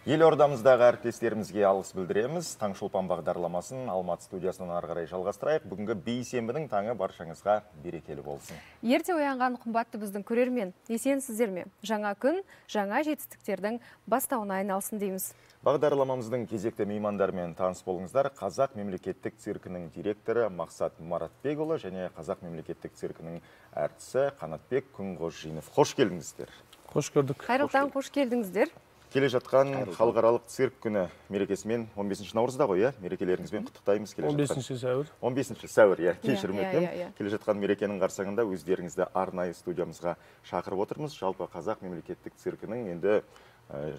Елордамыздағы әріптестерімізге алғыс білдіреміз. Таңшолпан бағдарламасын Алматы студиясынан ары қарай жалғастырайық. Бүгінгі бейсенбінің таңы баршаңызға берекелі болсын. Ерте оянған қымбатты біздің көрермен, есенсіздер ме? Жаңа күн, жаңа жетістіктердің бастауына айналсын дейміз. Бағдарламамыздың кезекті меймандарымен таныс болыңыздар. Қазақ мемлекеттік циркінің директоры Мақсат Маратбекұлы және Қазақ мемлекеттік циркінің әртісі Қанатбек Күнғожинов. Қош келдіңіздер. Қош көрдік. Қайырлы таң, қош келдіңіздер. Келе жатқан халықаралық цирк күні мерекесімен 15 наурызда ғой, мерекелеріңізбен құттықтаймыз. 15 сәуір. 15 сәуір, кешірім өтінемін. Келе жатқан мерекенің қарсаңында өздеріңізді арнайы студиямызға шақырып отырмыз. Жалпы Қазақ мемлекеттік циркінің енді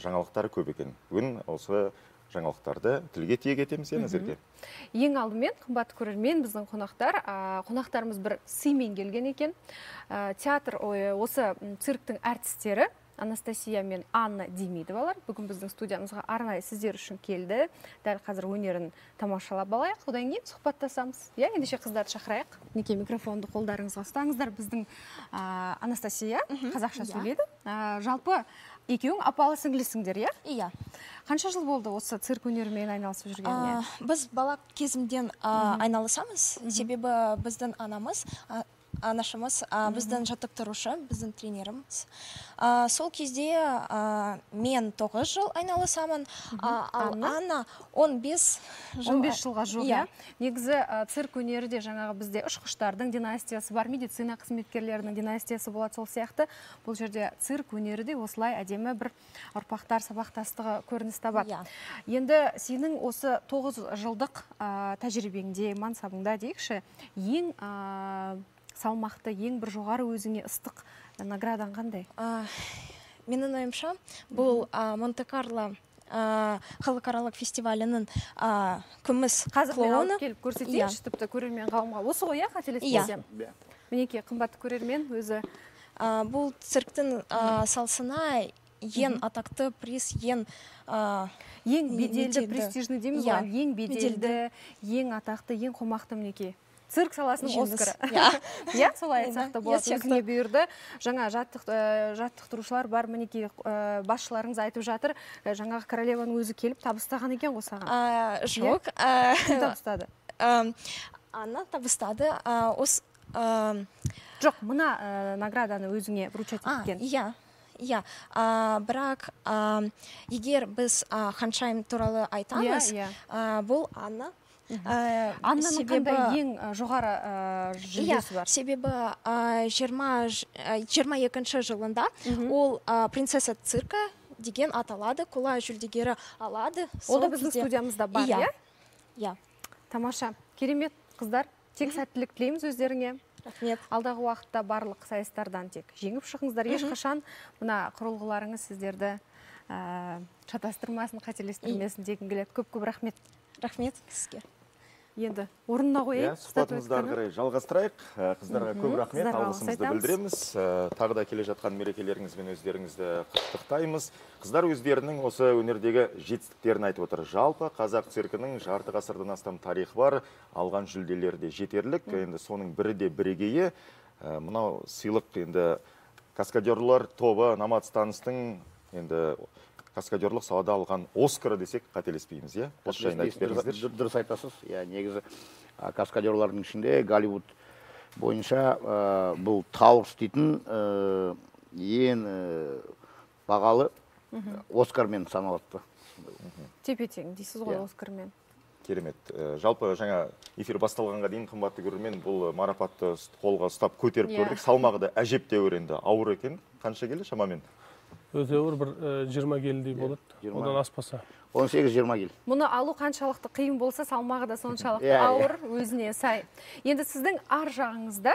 жаңалықтары көп екен. Бүгін осы жаңалықтарды тілге тиек етеміз, әзірге. Ең алдымен, қымбатты көрермен, біздің қонақтарымыз бір сыймен келген екен. Театр, осы цирктің әртістері Анастасия мен Анна Демидовалар бүгін біздің студиямызға арнайы сіздер үшін келді. Дәл қазір өнерін тамашалап алайық, одан кейін сұхбаттасамыз. Ендеше қыздарды шақырайық. Неке микрофонды қолдарыңызға ұстаңыздар. Біздің Анастасия қазақша сөйледі. Жалпы екеуің апалы сіңлісіңдер, Иә. Қанша жыл болды осы цирк өнерімен айналысып жүргеніне? Біз бала кезімден айналысамыз. Себебі біздің анашымыз, біздің жаттықтырушы, біздің тренеріміз. Сол кезде мен 9 жыл айналысамын, ал Анна 15 жылға жоқ. Негізі цирк өнері де жаңағы бізде ұшқыштардың династиясы бар, медицина қызметкерлерінің династиясы болады, сол сияқты. Бұл жерде цирк өнері де осылай әдемі бір ұрпақтар сабақтастығы көрініс табады. Енді сенің осы 9 жылдық тәжірибеңде, мансабыңда дейікші, ең салмақты, ең бір жоғары өзіңе ыстық наградаң қандай? Менің ойымша, бұл Монте-Карло халықаралық фестивалінің күміс клоуны. Қазір мен алып келіп көрсетейінші, тіпті көрермен қауымға. Осы ғой, қателеспесем? Мінеке, қымбатты көрермен өзі. Бұл цирктің салсына ең атақты приз, ең беделді, престижный дейміз ғой, ең беделді, ең атақты, ең қомақты мінеке. Цирк саласының Оскары. Солай айтсақ та болады. Өзіңе бұйырды. Жаңа жаттықтырушылар бар, мінеке басшыларыңыз айтып жатыр. Жаңағы королеваның өзі келіп табыстаған екен ғой саған. Жоқ. Кім табыстады? Анна табыстады. Жоқ, мына награданы өзіңе вручать еткен. Иә, бірақ егер біз ханшайым туралы айтамыз, бұл Анна. Аннаның қандай ең жоғары жүлдесі бар? Себебі 22 жылында ол принцесса цирка деген аталады, қола жүлдегері алады. Ол да біздің студиямызда бар, Иә. Тамаша, керемет қыздар, тек сәттілік тілейміз өздеріңе. Рахмет. Алдағы уақытта барлық сайыстардан тек жеңіп шығыңыздар. Ешқашан мына құрылғыларыңыз сіздерді шатастырмасын, қателестірмесін дегім келеді. Көп рахмет. Рахмет сізге. Енді орнына қойып, сұхбатымызды ары қарай жалғастырайық. Қыздарға көп рахмет, алғысымызды білдіреміз. Тағы да келе жатқан мерекелеріңізбен өздеріңізді құттықтаймыз. Қыздар өздерінің осы өнердегі жетістіктерін айтып отыр. Жалпы қазақ циркінің жарты ғасырдан астам тарихы бар, алған жүлделері де жетерлік. Енді соның бірі де бірегейі. Мынау сыйлық енді каскадерлар тобы Номад станыстың енді каскадерлық салада алған Оскары десек қателеспейміз, Осы жайында айтып беріңіздер. Дұрыс айтасыз. Негізі каскадерлардың ішінде Голливуд бойынша бұл Тауырс дейтін ең бағалы Оскармен саналады. Тепе-тең дейсіз ғой Оскармен. Керемет. Жалпы жаңа эфир басталғанға дейін қымбатты көрермен бұл марапатты қолға ұстап көтеріп көрдік. Салмағы да әжептәуір енді ауыр екен. Қанша келі шамамен? Өте ауыр, бір 20 келідей болады, одан аспаса. 18-20 кел. Мұны алу қаншалықты қиын болса, салмағы да соншалықты ауыр, өзіне сай. Енді сіздің ар жағыңызда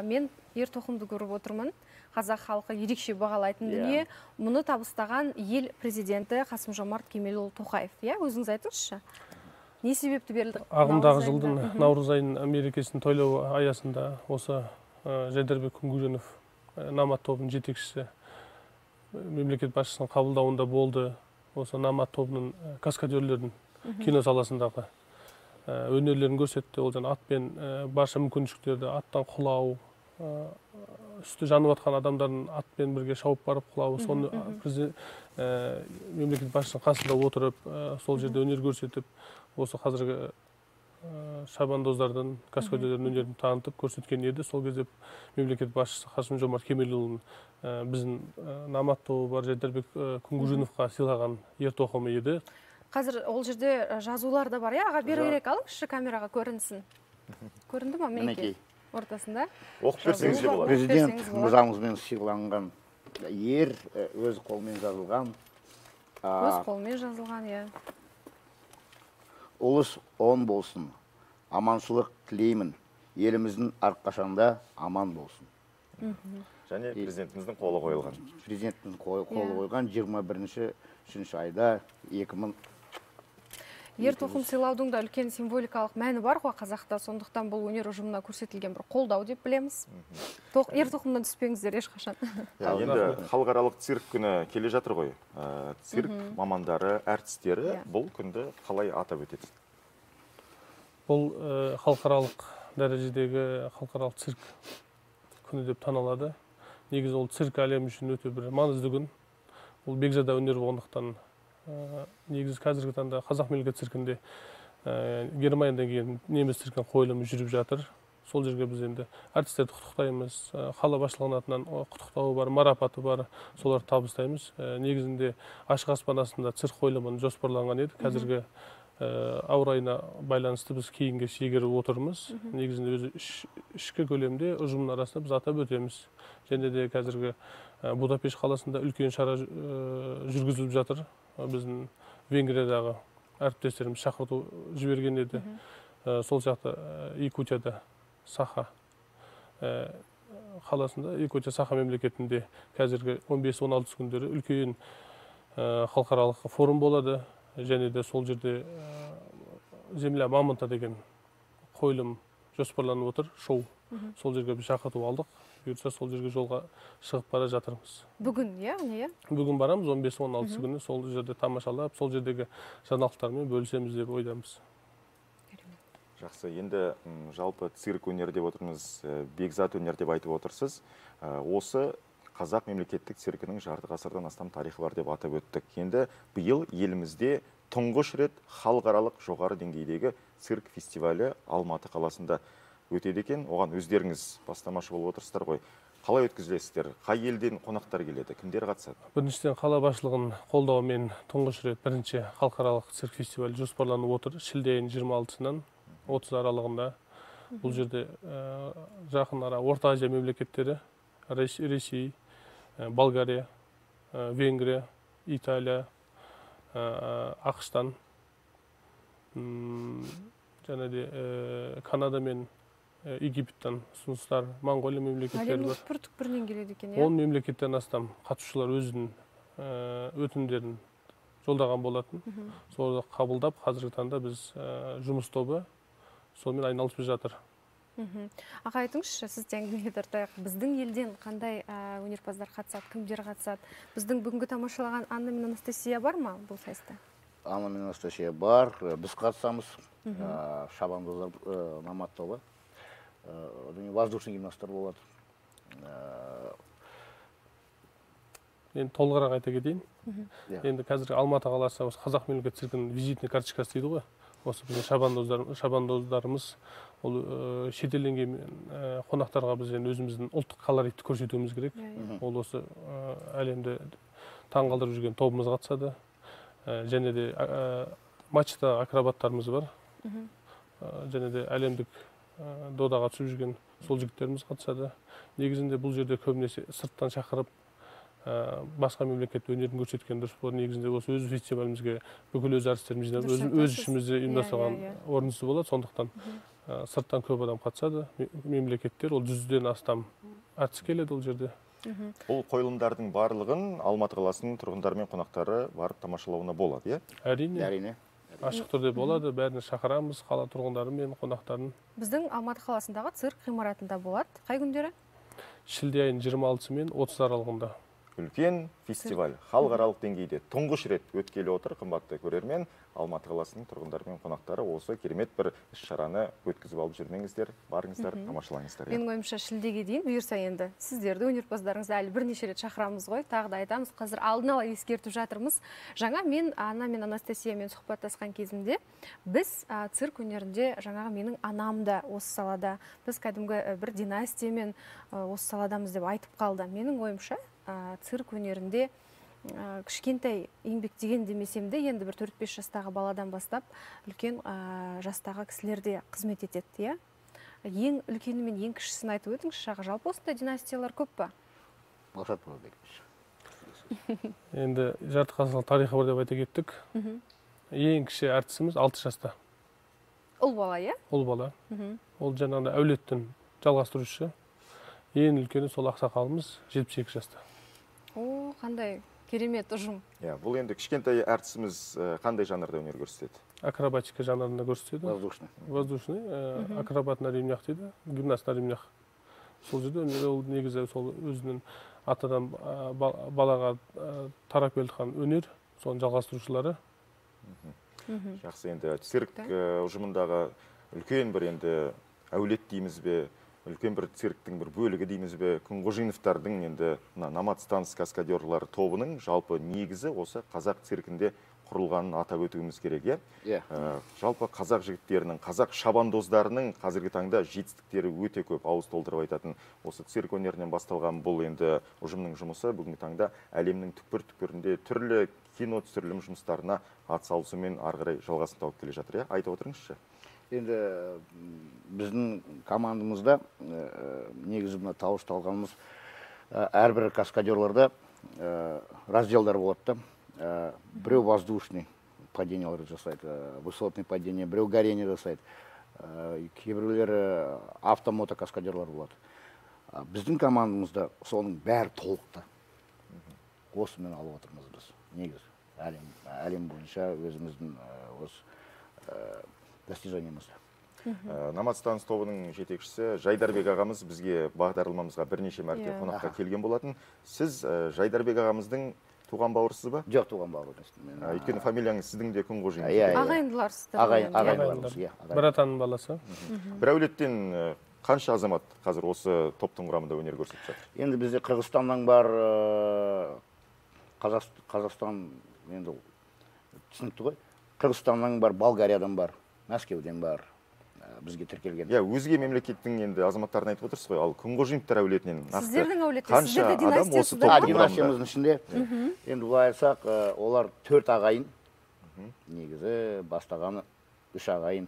мен ер-тоқымды көріп отырмын. Қазақ халқы ерекше бағалайтын дүние. Мұны табыстаған ел президенті Қасым-Жомарт Кемелұлы Тоқаев. Өзіңіз айтыңызшы. Не себепті берілді? Ағымдағы жылдың наурыз айының мерекесін тойлау аясында осы Жайдарбек Күнгөженов Номад тобының жетекшісі мемлекет басшысының қабылдауында болды. Осы Номад тобының каскадерлердің кино саласындағы өнерлерін көрсетті. Ол атпен барша мүмкіншіліктерді, аттан құлау, үсті жанып жатқан адамдардың атпен бірге шауып барып құлауы, соны мемлекет басшысының қасында отырып, сол жерде өнер көрсетіп, осы қазіргі шабандоздардан, каскадерлердің өнерін танытып көрсеткен еді. Сол кезде мемлекет басшысы Қасым-Жомарт Кемелұлының біздің Намат тобы бар Жайдарбек Күнгужиновқа сыйлаған ертоқымы еді. Қазір ол жерде жазулар да бар, аға беру керек, алыңызшы камераға көрінсін. Көрінді ма? Мінекей. Ортасында. Оқып берсеңіз де болады. Президент мырзамызбен сыйланған ер өз қолмен жазылған. Өз қолмен жазылған, иә. Ұлыс он болсын, аманшылық тілеймін, еліміздің әрқашанда аман болсын. Және президентіміздің қолы қойылған. Президентіміздің қолы қойған 21-ші айда 2000. Ертоқым сыйлаудың да үлкен символикалық мәні бар ғой қазақта, сондықтан бұл өнер ұжымына көрсетілген бір қолдау деп білеміз. Ертоқымнан түспеңіздер ешқашан. Енді халықаралық цирк күні келе жатыр ғой. Цирк мамандары, әртістері бұл күнді қалай атап өтеді? Бұл халықаралық дәрежедегі халықаралық цирк күні деп танылады. Негізі ол цирк әлемі үшін өте бір маңызды күн. Бұл бекзада өнер болғандықтан негізі қазіргі таңда қазақ мемлекет циркінде Германиядан келген неміс циркінің қойылымы жүріп жатыр. Сол жерге біз енді әртістерді құттықтаймыз. Қала басшылығының атынан құттықтауы бар, марапаты бар, соларды табыстаймыз. Негізінде ашық аспан астында цирк қойылымын жоспарланған еді. Қазіргі ауа райына байланысты біз кейінге шегеріп отырмыз. Негізінде өзі ішкі көлемде ұжымның арасында біз атап өтеміз. Және де қазіргі Будапешт қаласында үлкен шара жүргізіліп жатыр. Біздің Венгриядағы әріптестеріміз шақырту жіберген еді. Сол жақта Якутияда Саха қаласында, Якутия Саха мемлекетінде қазіргі 15-16 күндері үлкен халықаралық форум болады. Және де сол жерде Земля Мамонта деген қойылым жоспарланып отыр, шоу. Сол жерге біз шақырту алдық. Бұйырса сол жерге жолға шығып бара жатырмыз. Бүгін, иә? Бүгін барамыз, 15-16 күні сол жерде тамашалап, сол жердегі жаңалықтармен бөлісеміз деп ойдамыз. Жақсы, енді жалпы цирк өнер деп отырмыз, бекзат өнер деп айтып отырсыз. Осы қазақ мемлекеттік циркінің жарты ғасырдан астам тарихы бар деп атап өттік. Енді биыл елімізде тұңғыш рет халықаралық жоғары деңгейдегі цирк фестивалі Алматы қаласында өтеді екен. Оған өздеріңіз бастамашы болып отырсыздар ғой. Қалай өткізілесіздер? Қай елден қонақтар келеді? Кімдер қатысады? Біріншіден қала басшылығының қолдауымен тұңғыш рет бірінші халықаралық цирк фестивалі жоспарланып отыр. Шілде айының 26-нан 30 аралығында. Бұл жерде жақын ара Орта Азия мемлекеттері, Ресей, Болгария, Венгрия, Италия, Ақштан, және де Канада мен Египеттен ұсыныстар, Моңғолия мемлекеттері бар. Әлемнің түкпір-түкпірінен келеді екен, 10 мемлекеттен астам қатысушылар өзінің өтінімдерін жолдаған болатын. Соларды қабылдап, қазіргі таңда біз жұмыс тобы сонымен айналысып жатыр. Аға, айтыңызшы, сіз әңгімеге тартайық. Біздің елден қандай өнерпаздар қатысады, кімдер қатысады? Біздің бүгінгі тамашалаған Анна мен Анастасия бар ма бұл сайыста? Анна мен Анастасия бар, біз қатысамыз. Шабандоздар Намат тобы. Воздушный гимнасттар болады. Енді толығырақ айта кетейін. Енді қазір Алматы қаласы қазақ мемлекет циркінің визитный карточкасы дейді ғой. Осы біздің шабандоздарымыз ол шетелден қонақтарға біз өзіміздің ұлттық колоритті көрсетуіміз керек. Ол осы әлемді таңғалдырып жүрген тобымыз қатысады. Және де матчта акробаттарымыз бар. Және де әлемдік додаға түсіп жүрген сол жігіттеріміз қатысады. Негізінде бұл жерде көбінесе сырттан шақырып басқа мемлекет өнерін көрсеткен дұрыс болады. Негізінде осы өз фестивалімізге бүкіл өз әртістеріміз жинап, өз ішімізде ұйымдастырған орынсыз болады. Сондықтан сырттан көп адам қатысады. Мемлекеттер ол 100-ден астам әртіс келеді ол жерде. Бұл қойылымдардың барлығын Алматы қаласының тұрғындары мен қонақтары барып тамашалауына болады, иә? Әрине. Ашық түрде болады, бәріне шақырамыз, қала тұрғындары мен қонақтарын. Біздің Алматы қаласындағы цирк ғимаратында болады. Қай күндері? Шілде айының 26 мен 30 аралығында. үлкен фестиваль халықаралық деңгейде тұңғыш рет өткелі отыр. Қымбатты көрермен, Алматы қаласының тұрғындары мен қонақтары осы керемет бір іс-шараны өткізіп алып жүрмеңіздер, барыңыздар, тамашалаңыздар. Менің ойымша шілдеге дейін бұйырса енді сіздерді, өнерпаздарыңызды әлі бірнеше рет шақырамыз ғой. Тағы да айтамыз, қазір алдын ала ескертіп жатырмыз. Жаңа мен Анна мен Анастасиямен сұхбаттасқан кезімде біз цирк өнерінде жаңағы менің анам да осы салада, біз кәдімгі бір династиямен осы саладамыз деп айтып қалды. Менің ойымша цирк өнерінде кішкентай еңбектеген демесем де, енді бір 4-5 жастағы баладан бастап үлкен жастағы кісілер де қызмет етеді, ең үлкені мен ең кішісін айтып өтіңізші Аға, жалпы осындай династиялар көп па? Мақсат Бұрабекович. Енді жарты ғасырлық тарихы бар деп айта кеттік. Ең кіші әртісіміз 6 жаста. Ұл бала, Ұл бала. Ол жаңағыдай әулеттің жалғастырушы. Ең үлкені сол ақсақалымыз 72 жаста. О, қандай керемет ұжым. Бұл енді кішкентай әртісіміз қандай жанрда өнер көрсетеді? Акробатика жанрында көрсетеді. Воздушный. Акробат на ремнях дейді, гимнаст на ремнях. Сол жерде ол негізі сол өзінің атадан балаға тарап келген өнер, соның жалғастырушылары. Жақсы, енді цирк ұжымындағы үлкен бір енді әулет дейміз бе, үлкен бір цирктің бір бөлігі дейміз бе, Күнғожиновтардың енді Номад станс каскадерлар тобының жалпы негізі осы қазақ циркінде құрылғанын атап өтуіміз керек, жалпы қазақ жігіттерінің, қазақ шабандоздарының қазіргі таңда жетістіктері өте көп, ауыз толтырып айтатын. Осы цирк өнерінен басталған бұл енді ұжымның жұмысы бүгінгі таңда әлемнің түкпір-түкпірінде түрлі кино түсірілім жұмыстарына атсалысумен ары қарай жалғасын тауып келе жатыр. Айтып отырыңызшы. Енді біздің командамызда негізі мына тауышталғанымыз әрбір каскадерларда разделдар болады. Біреу воздушный падениялар жасайды, высотный падение, біреу горение жасайды. Кейбіреулері автомото каскадерлар болады. Біздің командамызда соның бәрі толықты. Осымен алып отырмыз біз. Негіз әлем бойынша өзіміздің достижениемізді. Номад станс тобының жетекшісі Жайдарбек ағамыз бізге бағдарламамызға бірнеше мәрте қонаққа келген болатын. Сіз Жайдарбек ағамыздың туған бауырсыз ба? Жоқ, туған бауырсыз. Өйткені фамилияңыз сіздің де Күнғожин. Ағайындыларсыздар. Ағайындыларымыз. Бір атаның баласы. Бір әулеттен қанша азамат қазір осы топтың құрамында өнер көрсетіп жатыр? Енді бізде Қырғызстаннан бар, Қазақстан енді түсінікті ғой. Қырғызстаннан бар, Болгариядан бар, Мәскеуден бар. Бізге тіркелген. Өзге мемлекеттің енді азаматтарын айтып отырсыз ғой, ал Күнғожиновтар әулетінен сіздердің әулетте, қанша адам осы топтың құрамында? Династиямыздың ішінде. Енді бұлай айтсақ, олар 4 ағайын. Негізі бастағаны 3 ағайын.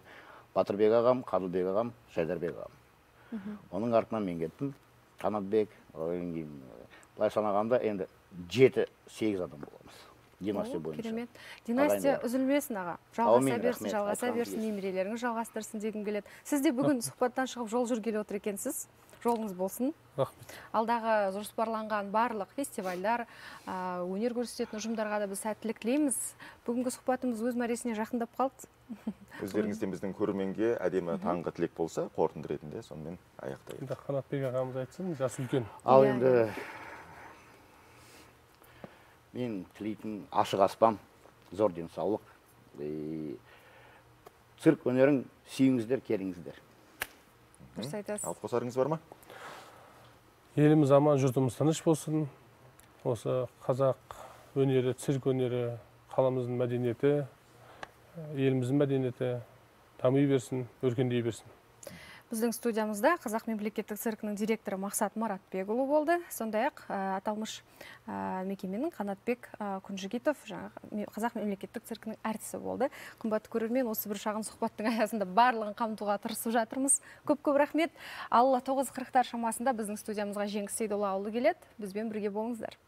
Батырбек ағам, Қадылбек ағам, Жайдарбек ағам. Оның артынан мен кеттім. Қанатбек, бұлай санағанда енді 7-8 адам боламыз. Династия бойынша. Керемет. Династия үзілмесін аға. Жалғаса берсін, немерелеріңіз жалғастырсын дегім келеді. Сіз де бүгін сұхбаттан шығып жол жүргелі отыр екенсіз. Жолыңыз болсын. Рахмет. Алдағы жоспарланған барлық фестивальдар, өнер көрсететін ұжымдарға да біз сәттілік тілейміз. Бүгінгі сұхбатымыз өз мәресіне жақындап қалды. Өздеріңізден біздің көрерменге әдемі таңғы тілек болса, қорытынды ретінде сонымен аяқтайық. Қанатбек ағамыз айтсын, жасы үлкен. Ал енді мен тілейтін ашық аспан, зор денсаулық. Цирк өнерін сүйіңіздер, келіңіздер. Дұрыс айтасыз. Ал қосарыңыз бар ма? Еліміз аман, жұртымыз тыныш болсын. Осы қазақ өнері, цирк өнері, қаламыздың мәдениеті, еліміздің мәдениеті дами берсін, өркендей берсін. Біздің студиямызда Қазақ мемлекеттік циркінің директоры Мақсат Маратбекұлы болды. Сондай-ақ аталмыш мекеменің Қанатбек Күнжігитов Қазақ мемлекеттік циркінің әртісі болды. Қымбатты көрермен, осы бір шағын сұхбаттың аясында барлығын қамтуға тырысып жатырмыз. Көп-көп рахмет. Алла 9:40 шамасында біздің студиямызға Жеңіс Сейдоллаұлы келеді. Бізбен бірге болыңыздар.